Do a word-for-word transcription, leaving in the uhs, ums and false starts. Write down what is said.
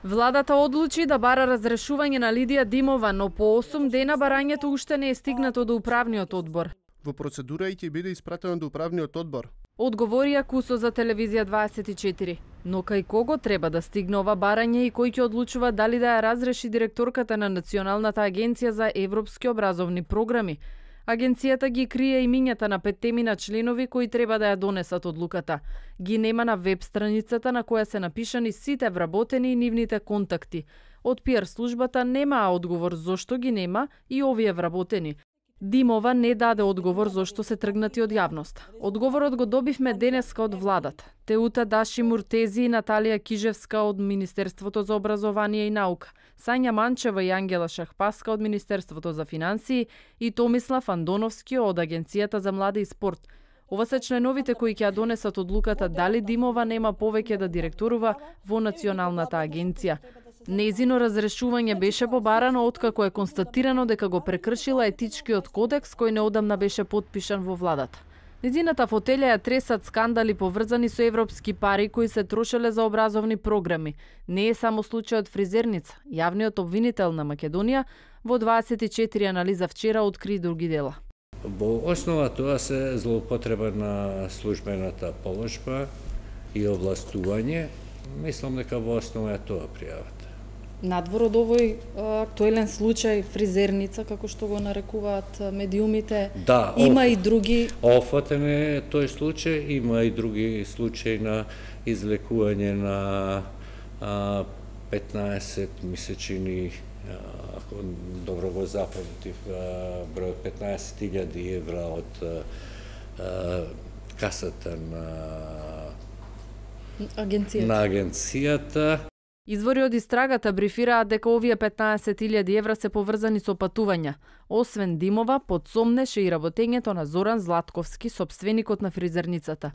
Владата одлучи да бара разрешување на Лидија Димова, но по осум дена барањето уште не е стигнато до управниот одбор. Во процедура и ќе биде испратено до управниот одбор. Одговорија Кусо за телевизија дваесет и четири. Но кај кого треба да стигне ова барање и кој ќе одлучува дали да ја разреши директорката на Националната агенција за европски образовни програми? Агенцијата ги крие имињата на петтемина членови кои треба да ја донесат одлуката. Ги нема на веб страницата на која се напишани сите вработени и нивните контакти. Од пиар службата немаа одговор зошто ги нема и овие вработени. Димова не даде одговор зошто се тргнати од јавност. Одговорот го добивме денеска од владата. Теута Даши Муртези и Наталија Кижевска од Министерството за образование и наука, Сања Манчева и Ангела Шахпаска од Министерството за финансии и Томислав Андоновски од Агенцијата за млади и спорт. Ова се членовите кои ќе ја донесат одлуката дали Димова нема повеќе да директорува во Националната агенција. Нејзино разрешување беше побарано откако е констатирано дека го прекршила етичкиот кодекс кој неодамна беше потпишан во владата. Нејзината фотелја ја тресат скандали поврзани со европски пари кои се трошеле за образовни програми. Не е само случајот фризерница. Јавниот обвинител на Македонија во дваесет и четири анализа вчера откри други дела. Во основа тоа се злоупотреба на службената положба и овластување. Мислам дека во основа е тоа пријавата. Надвор од овој актуелен случај фризерница, како што го нарекуваат медиумите, да, има оф, и други... Офатен е тој случај, има и други случаи на излекување на а, петнаесет месечини, ако добро го запамтив, број петнаесет илјади евра од а, касата на агенцијата. на агенцијата. Извори од истрагата брифираат дека овие петнаесет илјади евра се поврзани со патувања. Освен Димова, подсомнеше и работењето на Зоран Златковски, сопственикот на фризерницата.